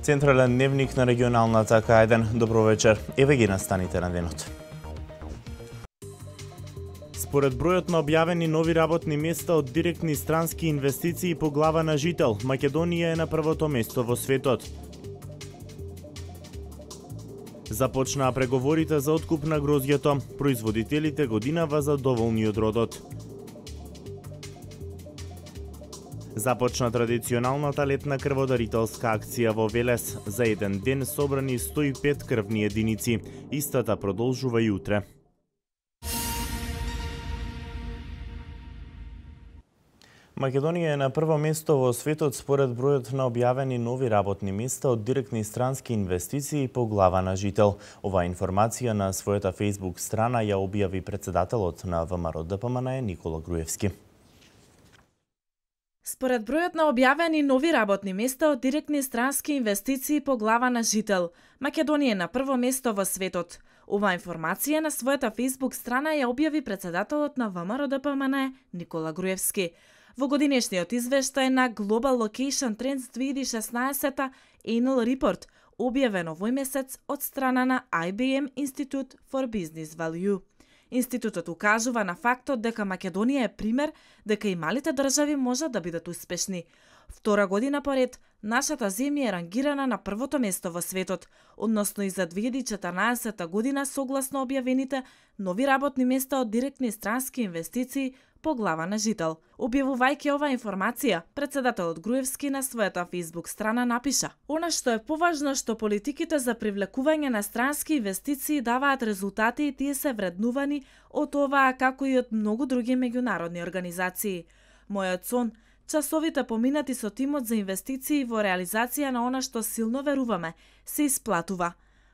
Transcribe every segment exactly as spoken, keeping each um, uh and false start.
Централен дневник на регионалната К еден. Добро вечер. Еве ги настаните на денот. Според бројот на објавени нови работни места од директни странски инвестиции по глава на жител, Македонија е на првото место во светот. Започнаа преговорите за откуп на грозѓето. Производителите годинава задоволни од родот. Започна традиционалната летна крводарителска акција во Велес. За еден ден собрани сто и пет крвни единици. Истата продолжува и утре. Македонија е на прво место во светот според бројот на објавени нови работни места од директни странски инвестиции по глава на жител. Оваа информација на својата Facebook страна ја објави председателот на ВМРО Д П М Н Никола Груевски. Според бројот на објавени нови работни места од директни странски инвестиции по глава на жител, Македонија е на прво место во светот. Оваа информација на својата Facebook страна ја објави председателот на ВМРО Д П М Н Никола Груевски. Во годинешниот извештај на Global Location Trends две илјади и шеснаесета Annual Report, објавен овој месец од страна на I B M Institute for Business Value. Институтот укажува на фактот дека Македонија е пример дека и малите држави можат да бидат успешни. Втора година поред, нашата земја е рангирана на првото место во светот, односно и за две илјади и четрнаесета година согласно објавените нови работни места од директни странски инвестиции по глава на жител. Објавувајќи оваа информација, председателот Груевски на својата Facebook страна напиша: "Она што е поважно што политиките за привлекување на странски инвестиции даваат резултати и тие се вреднувани од оваа како и од многу други меѓународни организации. Мојот сон, часовите поминати со тимот за инвестиции во реализација на она што силно веруваме, се исплатува.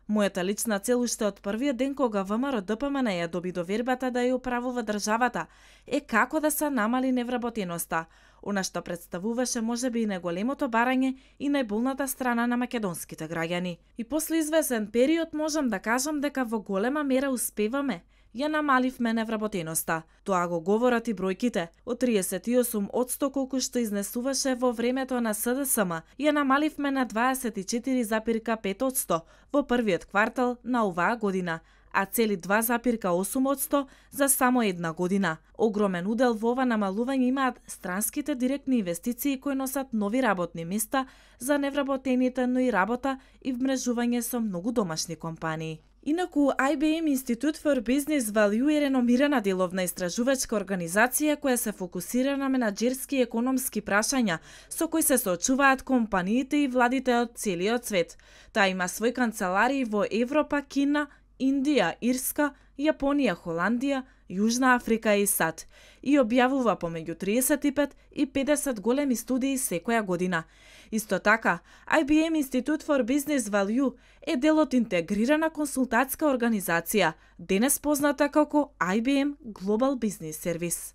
Мојата лична цел уште од првиот ден кога ВМРО Д П М Н ја доби довербата да ја управува државата е како да се намали невработеноста, она што представуваше можеби и најголемото барање и најболната страна на македонските граѓани. И после извесен период можам да кажам дека во голема мера успеваме. Ја намаливме невработеноста. Тоа го говорат и бројките. Од триесет и осум одсто колку што изнесуваше во времето на С Д С М, ја намаливме на дваесет и четири запирка пет одсто во првиот квартал на оваа година, а цели два запирка осум одсто за само една година. Огромен удел во ова намалување имаат странските директни инвестиции кои носат нови работни места за невработените, но и работа и вмрежување со многу домашни компании. Инаку, I B M Institute for Business Value е реномирана деловна истражувачка организација која се фокусира на менаџерски и економски прашања со кои се соочуваат компаниите и владите од целиот свет. Таа има свој канцеларии во Европа, Кина, Индија, Ирска, Јапонија, Холандија, Јужна Африка и САД и објавува помеѓу триесет и пет и педесет големи студии секоја година. Исто така, I B M Institute for Business Value е дел од интегрирана консултатска организација, денес позната како I B M Global Business Service.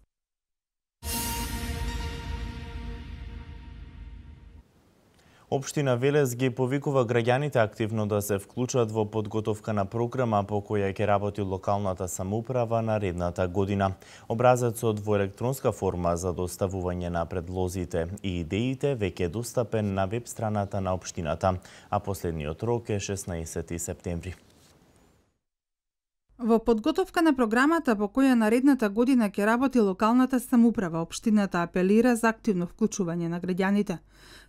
Општина Велес ги повикува граѓаните активно да се вклучат во подготовка на програма по која ќе работи локалната самоуправа наредната година. Образецот во електронска форма за доставување на предлозите и идеите веќе е достапен на веб страната на општината, а последниот рок е шеснаесети септември. Во подготовка на програмата по која наредната година ќе работи локалната самоуправа, општината апелира за активно вклучување на граѓаните.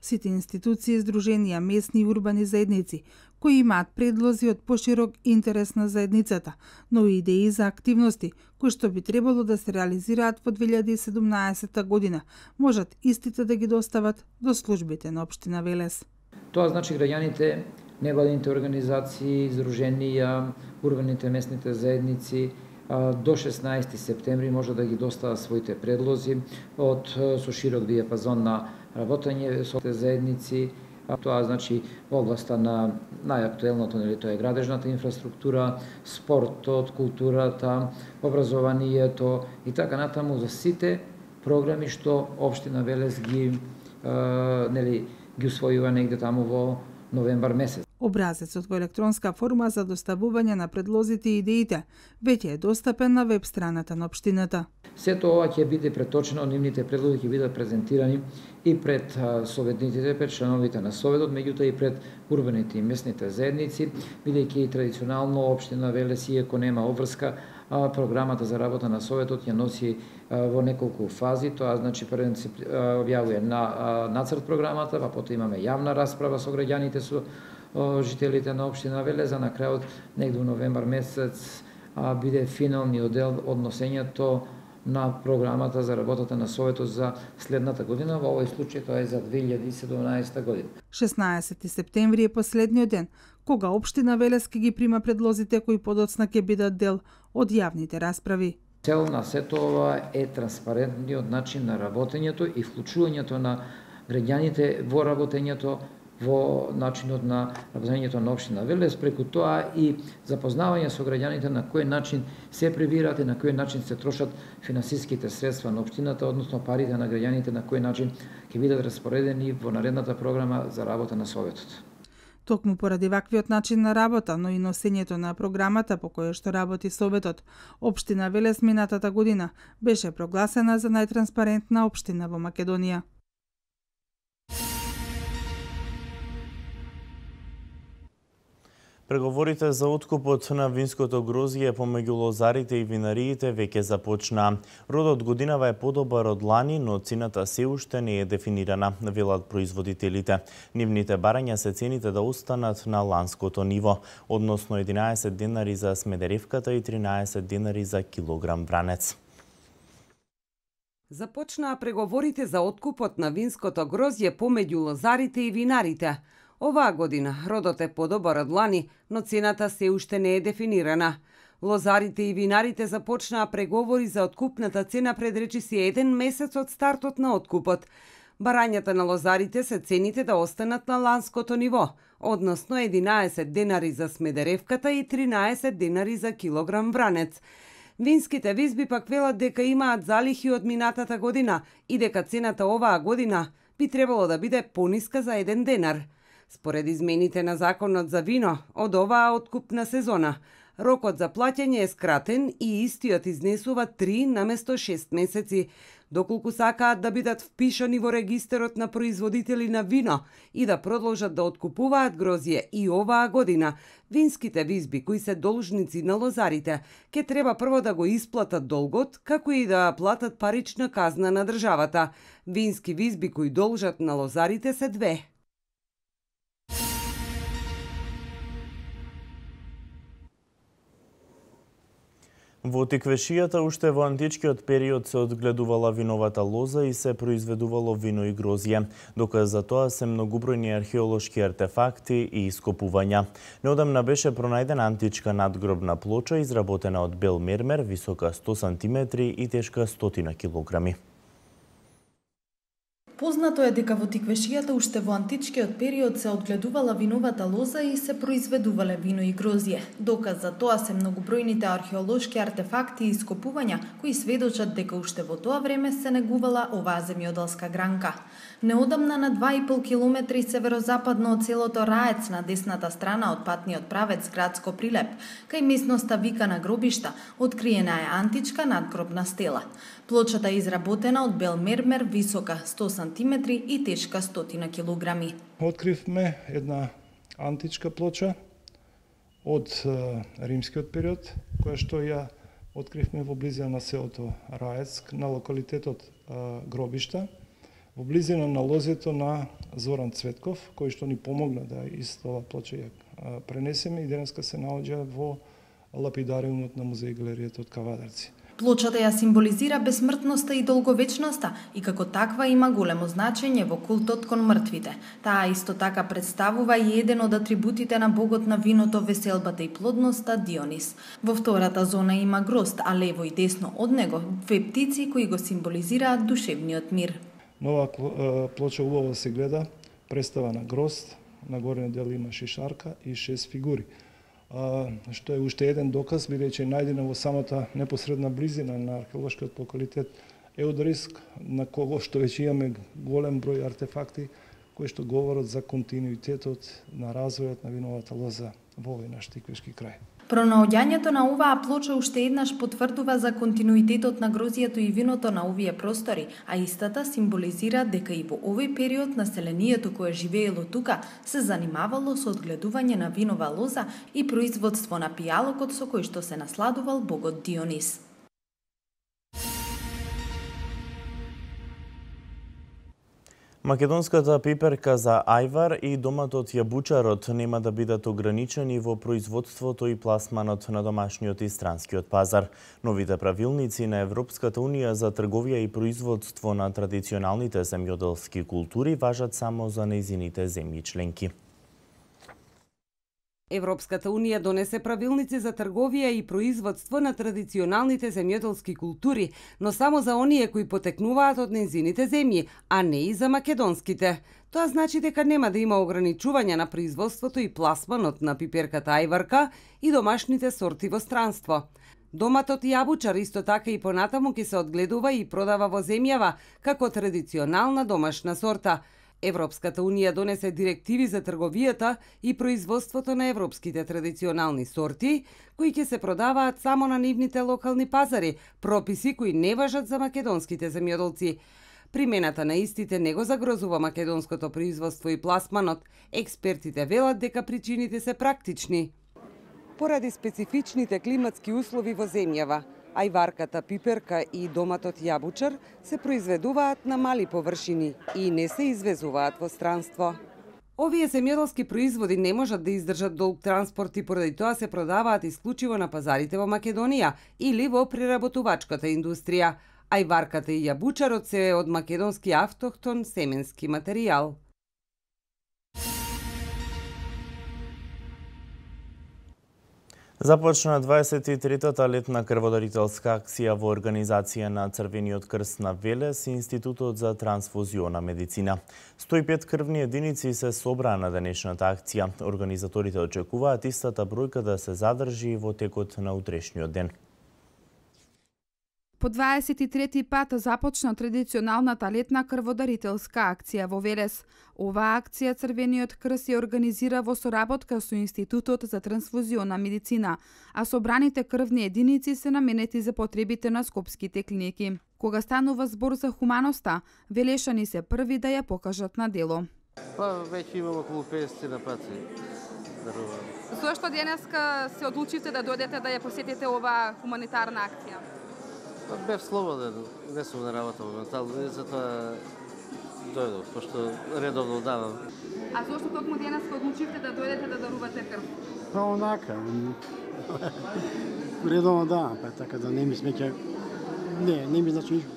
Сите институции, здруженија, местни и урбани заедници, кои имаат предлози од поширок интерес на заедницата, но и идеи за активности, кои што би требало да се реализираат во две илјади и седумнаесета година, можат истите да ги достават до службите на општина Велес. Тоа значи граѓаните, невладините организации, здруженија, урбаните местните заедници до шеснаесети септември може да ги достават своите предлози од со широк диапазон на работење со заедници. Тоа значи во областа на најактуелното, нели, тоа е градежната инфраструктура, спортот, културата, образованието и така натаму за сите програми што општина Велес ги нели ги усвојува негде таму во новембар месец. Образецот во електронска форма за доставување на предлозите и идеите веќе е достапен на веб страната на општината. Сето ова ќе биде преточено, нивните предлози ќе бидат презентирани и пред советниците, пред членовите на советот, меѓутоа и пред урбаните и местните заедници, бидејќи и традиционално општина Велес, иако нема обврска, програмата за работа на советот ја носи во неколку фази. Тоа значи првен се објавува на нацрт програмата, па потоа имаме јавна расправа со граѓаните, со жителите на општина Велес, а на крајот негде во новембар месец биде финалниот дел од носењето на програмата за работата на советот за следната година, во овој случај тоа е за две илјади и седумнаесетта година. шеснаесети септември е последниот ден кога општина Велес ќе ги прима предлозите кои подоцна ќе бидат дел од јавните расправи. Цел на сето ова е транспарентниот начин на работењето и вклучувањето на граѓаните во работењето, во начинот на работењето на општина Велес, преку тоа и запознавање со граѓаните на кој начин се прибираат и на кој начин се трошат финансиските средства на општината, односно парите на граѓаните на кој начин ќе бидат распоредени во наредната програма за работа на советот. Токму поради ваквиот начин на работа, но и носењето на програмата по која што работи советот, општина Велес минатата година беше прогласена за најтранспарентна општина во Македонија. Преговорите за откупот на винското грозје помеѓу лозарите и винариите веќе започна. Родот годинава е подобар од лани, но цената се уште не е дефинирана, велат производителите. Нивните барања се цените да останат на ланското ниво, односно единаесет денари за смедеревката и тринаесет денари за килограм вранец. Започнаа преговорите за откупот на винското грозје помеѓу лозарите и винарите. Оваа година родот е подобар од лани, но цената се уште не е дефинирана. Лозарите и винарите започнаа преговори за откупната цена пред речиси еден месец од стартот на откупот. Барањата на лозарите се цените да останат на ланското ниво, односно единаесет денари за смедеревката и тринаесет денари за килограм вранец. Винските визби пак велат дека имаат залихи од минатата година и дека цената оваа година би требало да биде пониска за еден денар. Според измените на законот за вино, од оваа откупна сезона, рокот за плаќање е скратен и истиот изнесува три наместо шест месеци, доколку сакаат да бидат впишани во регистерот на производители на вино и да продолжат да откупуваат грозје и оваа година. Винските визби кои се должници на лозарите ке треба прво да го исплатат долгот, како и да платат парична казна на државата. Вински визби кои должат на лозарите се две. Во Тиквешијата уште во античкиот период се одгледувала виновата лоза и се произведувало вино и грозје. Доказ за тоа се многубројни археолошки артефакти и ископувања. Неодамна беше пронајдена античка надгробна плоча изработена од бел мермер, висока сто сантиметри и тешка сто килограми. Познато е дека во Тиквешијата уште во античкиот период се одгледувала виновата лоза и се произведувале вино и грозје. Доказ за тоа се многобројните археолошки артефакти и ископувања кои сведочат дека уште во тоа време се негувала оваа земјоделска гранка. Неодамна на два и пол километри северозападно од селото Раец на десната страна од патниот правец градско Прилеп, кај местноста викана Гробишта, откриена е античка надгробна стела. Плочата е изработена од бел мермер, висока сто сантиметри и тешка сто килограми. Откривме една античка плоча од римскиот период, која што ја откривме во близина на селото Раец, на локалитетот Гробишта, во близина на лозето на Зоран Цветков, кој што ни помогна да исто ова плоча ја пренесеме и денеска се наоѓа во лапидариумот на музеј галеријата од Кавадарци. Плочата ја символизира бесмртноста и долговечноста и како таква има големо значење во култот кон мртвите. Таа исто така представува и еден од атрибутите на богот на виното, веселбата и плодноста Дионис. Во втората зона има грозд, а лево и десно од него две птици кои го символизираат душевниот мир. Нова плоча убаво се гледа, представа на грозд, на горниот дел има шишарка и шест фигури. А, што е уште еден доказ, бидејќи е најдена во самата непосредна близина на археолошкиот локалитет Еудриск, на кого што веќе имаме голем број артефакти кои што говорат за континуитетот на развојот на виновата лоза во овој наш тиквешки крај. Пронаоѓањето на оваа плоча уште еднаш потврдува за континуитетот на грозјето и виното на овие простори, а истата символизира дека и во овој период населението кое живеело тука се занимавало со одгледување на винова лоза и производство на пијалокот со кој што се насладувал богот Дионис. Македонската пиперка за ајвар и доматот јабучарот нема да бидат ограничени во производството и пласманот на домашниот и странскиот пазар. Новите правилници на Европската унија за трговија и производство на традиционалните земјоделски култури важат само за нејзините земји членки. Европската унија донесе правилници за трговија и производство на традиционалните земјоделски култури, но само за оние кои потекнуваат од нејзините земји, а не и за македонските. Тоа значи дека нема да има ограничување на производството и пласманот на пиперката ајварка и домашните сорти во странство. Доматот јабучар исто така и понатаму ќе се одгледува и продава во земјава како традиционална домашна сорта. Европската унија донесе директиви за трговијата и производството на европските традиционални сорти, кои ќе се продаваат само на нивните локални пазари, прописи кои не важат за македонските земјоделци. Примената на истите не го загрозува македонското производство и пласманот. Експертите велат дека причините се практични. Поради специфичните климатски услови во земјава, ајварката пиперка и доматот јабучар се произведуваат на мали површини и не се извезуваат во странство. Овие земјоделски производи не можат да издржат долг транспорт и поради тоа се продаваат исклучиво на пазарите во Македонија или во преработувачката индустрија. Ајварката и јабучарот се од македонски автохтон семенски материјал. Започна дваесет и третата летна крводарителска акција во организација на Црвениот крст на Велес и Институтот за трансфузиона медицина. сто и пет крвни единици се собраа на денешната акција. Организаторите очекуваат истата бројка да се задржи во текот на утрешниот ден. По дваесет и трети пат започна традиционалната летна крводарителска акција во Велес. Оваа акција Црвениот крст ја организира во соработка со Институтот за трансфузиона медицина, а собраните крвни единици се наменети за потребите на скопските клиники. Кога станува збор за хуманоста, велешани се први да ја покажат на дело. Па, веќе имам околу петдесет на пати. Зошто денеска се одлучивте да дојдете да ја посетите оваа хуманитарна акција? Бев слободен, не сум на работа моментално, и затоа дојдов, пошто редовно давам. А зошто токму денеска одлучивте да дојдете да дарувате крв? Па онака, редовно давам, па така да не ми смеќа, не, не ми значи ништо.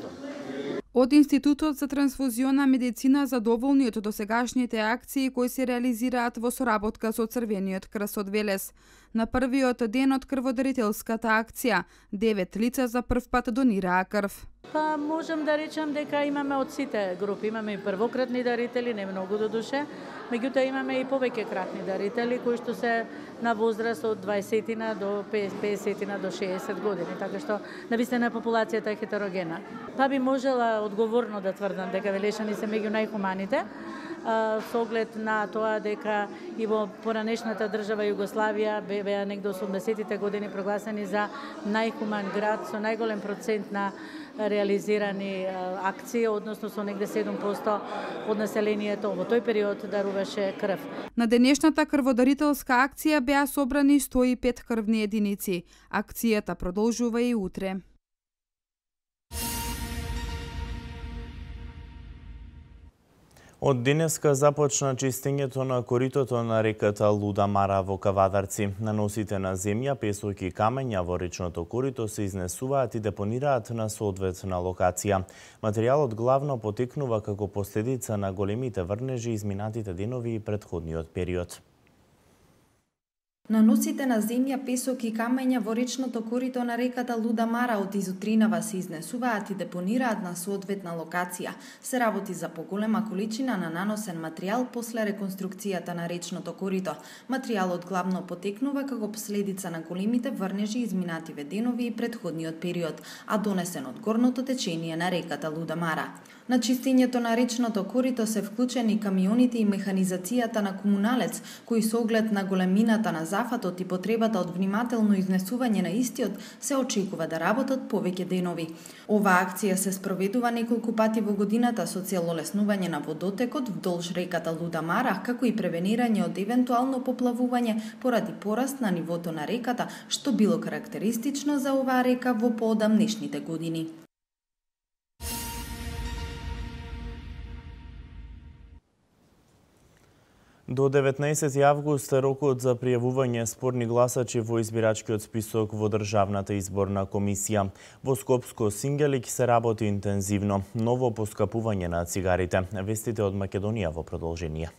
Од Институтот за трансфузиона медицина задоволни од досегашните акции кои се реализираат во соработка со Црвениот крст од Велес. На првиот ден од крводарителската акција, девет лица за прв пат донираа крв. Па можам да речам дека имаме од сите групи, имаме и првократни дарители, не многу до душе, меѓутоа имаме и повеќе кратни дарители кои што се на возраст од дваесет до песет до шеесет години, така што навистина популацијата е хетерогена. Па би можела одговорно да тврдам дека велешани се меѓу најхуманите, со оглед на тоа дека и во поранешната држава Југославија беа негде осумдесетите години прогласени за најхуман град со најголем процент на реализирани акции, односно со негде седум проценти од населението во тој период даруваше крв. На денешната крводарителска акција беа собрани сто и пет крвни единици. Акцијата продолжува и утре. Од денеска започна чистењето на коритото на реката Луда Мара во Кавадарци. Наносите на земја, песок и камења во речното корито се изнесуваат и депонираат на соодветна локација. Материјалот главно потекнува како последица на големите врнежи изминатите денови и претходниот период. Наносите на земја, песок и камења во речното корито на реката Луда Мара од изутринава се изнесуваат и депонираат на соодветна локација. Се работи за поголема количина на наносен материјал после реконструкцијата на речното корито. Материјалот главно потекнува како последица на големите врнежи изминативе денови и претходниот период, а донесен од горното течение на реката Луда Мара. На чистењето на речното корито се вклучени камионите и механизацијата на комуналец, кои со оглед на големината на зафатот и потребата од внимателно изнесување на истиот се очекува да работат повеќе денови. Оваа акција се спроведува неколку пати во годината со цел олеснување на водотекот вдолж реката Лудамара, како и превенирање од евентуално поплавување поради пораст на нивото на реката, што било карактеристично за оваа река во поодамнешните години. До деветнаесети август е рокот за пријавување спорни гласачи во избирачкиот список во Државната изборна комисија. Во Скопско Сингелик се работи интензивно. Ново поскапување на цигарите. Вестите од Македонија во продолжение.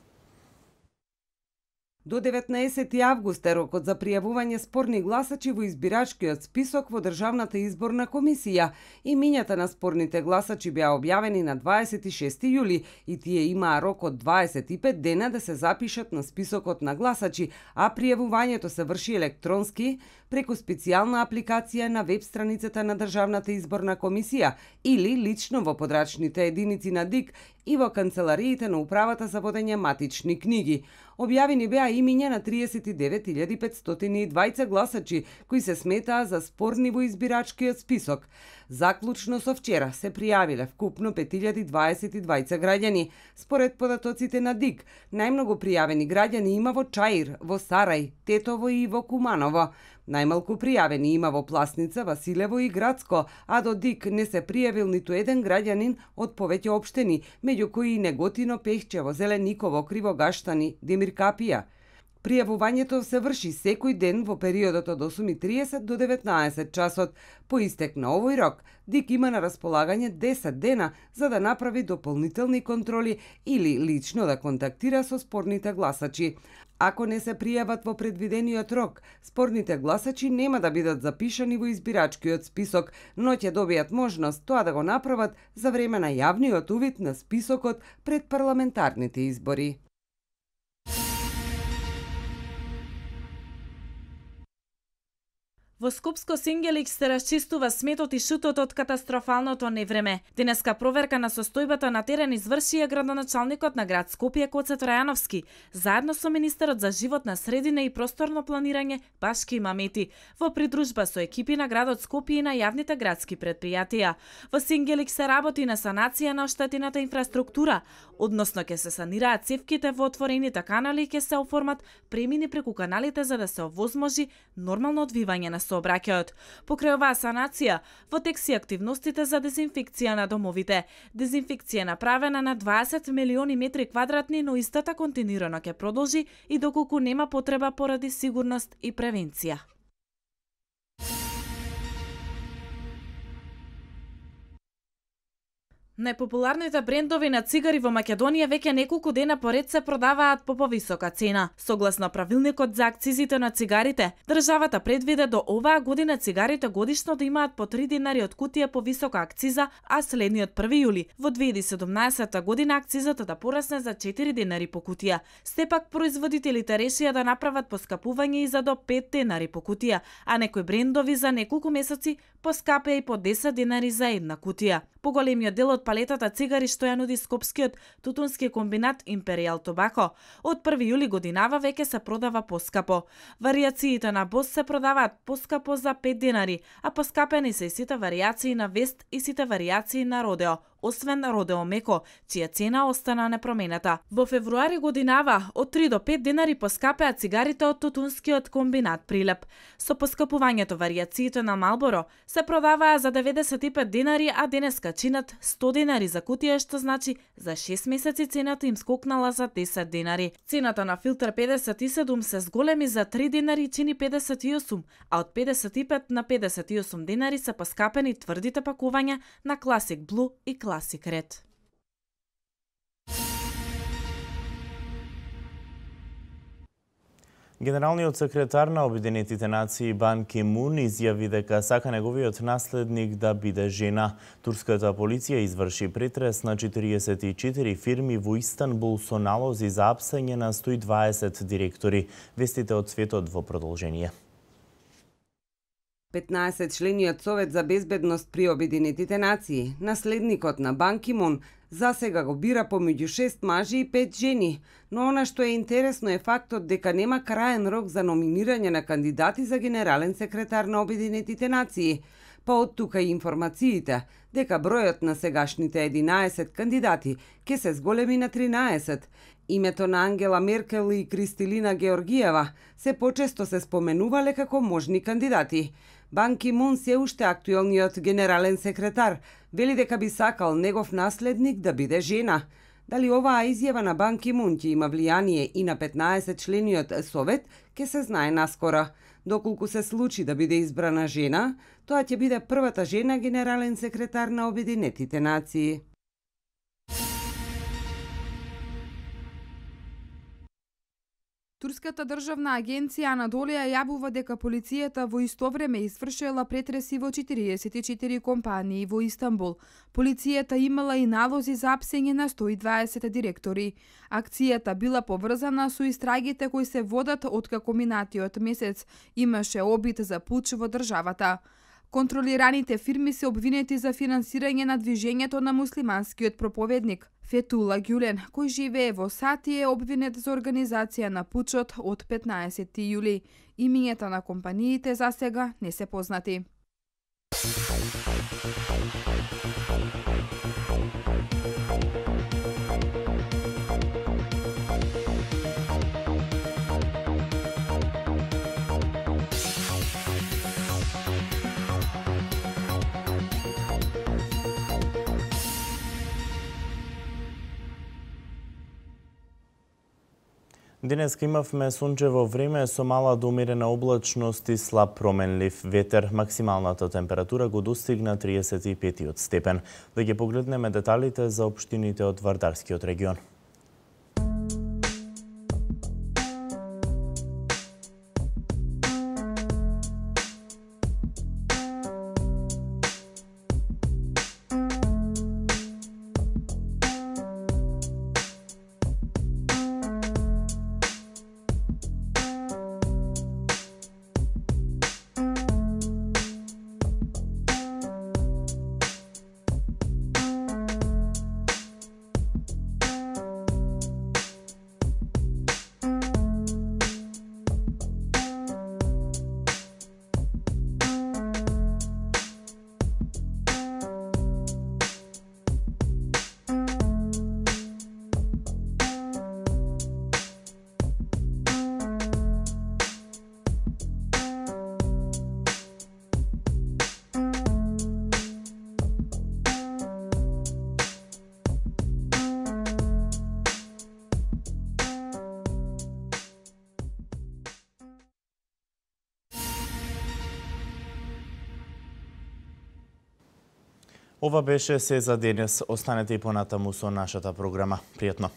До деветнаесети август е рокот за пријавување спорни гласачи во избирачкиот список во Државната изборна комисија. Имињата на спорните гласачи беа објавени на дваесет и шести јули и тие имаа рок од дваесет и пет дена да се запишат на списокот на гласачи, а пријавувањето се врши електронски преку специјална апликација на веб страницата на Државната изборна комисија или лично во подрачните единици на ДИК и во канцелариите на Управата за водење матични книги. Објавени беа имиња на триесет и девет илјади петстотини и дваесет гласачи кои се сметаа за спорни во избирачкиот список. Заклучно со вчера се пријавиле вкупно пет илјади дваесет и дваесет граѓани. Според податоците на ДИК, најмногу пријавени граѓани има во Чаир, во Сарај, Тетово и во Куманово. Најмалку пријавени има во Пласница, Василево и Градско, а до ДИК не се пријавил ниту еден граѓанин од повеќе општини, меѓу кои и Неготино, Пехчево, Зелениково, Кривогаштани, Демиркапија. Пријавувањето се врши секој ден во периодот од осум и тридесет до деветнаесет часот. По истек на овој рок, ДИК има на располагање десет дена за да направи дополнителни контроли или лично да контактира со спорните гласачи. Ако не се пријават во предвидениот рок, спорните гласачи нема да бидат запишани во избирачкиот список, но ќе добијат можност тоа да го направат за време на јавниот увид на списокот пред парламентарните избори. Во Скопско Сингелик се расчистува сметот и шутот од катастрофалното невреме. Денеска проверка на состојбата на терен изврши ја градоначалникот на град Скопје Коце Тројановски, заедно со министерот за животна средина и просторно планирање Башки Мамети, во придружба со екипи на градот Скопје и на јавните градски предпријатија. Во Сингелик се работи на санација на оштетената инфраструктура, односно ќе се санираат цевките во отворените канали и ќе се оформат премини преку каналите за да се овозможи нормално одвивање на сообраќајот. Покрај оваа санација, во тек се активностите за дезинфекција на домовите. Дезинфекција направена на дваесет милиони метри квадратни, но истата континуирано ќе продолжи и доколку нема потреба поради сигурност и превенција. Најпопуларните брендови на цигари во Македонија веќе неколку дена поред се продаваат по повисока цена. Согласно правилникот за акцизите на цигарите, државата предвиде до оваа година цигарите годишно да имаат по три динари од кутија повисока акциза, а следниот први јули во две илјади и седумнаесета година акцизата да порасне за четири динари по кутија. Сепак производителите решија да направат поскапување и за до пет динари по кутија, а некои брендови за неколку месеци поскапеа и по десет динари за една кутија. Поголемиот дел од палетата цигари што ја нуди скопскиот тутунски комбинат Imperial Tobacco од први јули годинава веќе се продава поскапо. Варијациите на Бос се продаваат поскапо за пет динари, а поскапени се и сите варијации на Вест и сите варијации на Родео, освен Родео Меко, чија цена остана непроменета. Во февруари годинава од три до пет динари поскапеа цигарите од тутунскиот комбинат Прилеп. Со поскапувањето варијациите на Малборо се продаваа за деветдесет и пет динари, а денеска чинат сто динари за кутија, што значи за шест месеци цената им скокнала за десет динари. Цената на филтер педесет и седум се зголеми за три динари и чини педесет и осум, а од педесет и пет на педесет и осум динари се поскапени тврдите пакувања на Classic Blue и Classic Red. Генералниот секретар на Обединетите нации Бан Ки Мун изјави дека сака неговиот наследник да биде жена. Турската полиција изврши претрес на четириесет и четири фирми во Истанбул со налози за апсење на сто и дваесет директори. Вестите од светот во продолжение. петнаесет члениот Совет за безбедност при Обединетите нации, наследникот на Бан Ки Мун, За сега го бира помеѓу шест мажи и пет жени, но она што е интересно е фактот дека нема краен рок за номинирање на кандидати за генерален секретар на Обединетите нации. Па од тука и информациите дека бројот на сегашните единаесет кандидати ќе се зголеми на тринаесет. Името на Ангела Меркел и Кристилина Георгиева се почесто се споменувале како можни кандидати. Бан Ки Мун се уште актуелниот генерален секретар вели дека би сакал негов наследник да биде жена. Дали оваа изјава на Бан Ки Мун ќе има влијание и на петнаесет члениот совет, ќе се знае наскоро. Доколку се случи да биде избрана жена, тоа ќе биде првата жена генерален секретар на Обединетите нации. Турската државна агенција Анадолија јавува дека полицијата во исто време извршила претреси во четириесет и четири компании во Истанбул. Полицијата имала и налози за апсење на сто и дваесет директори. Акцијата била поврзана со истрагите кои се водат откако минатиот месец имаше обид за пуч во државата. Контролираните фирми се обвинети за финансирање на движењето на муслиманскиот проповедник Фетула Гюлен, кој живее во САД и е обвинет за организација на пучот од петнаесети јули. Имињата на компаниите за сега не се познати. Денеска имавме сончево време со мала до умерена облачност и слаб променлив ветер. Максималната температура го достигна триесет и пет степен. Да ги погледнеме деталите за општините од Вардарскиот регион. Ова беше се за денес. Останете и понатаму со нашата програма. Пријатно!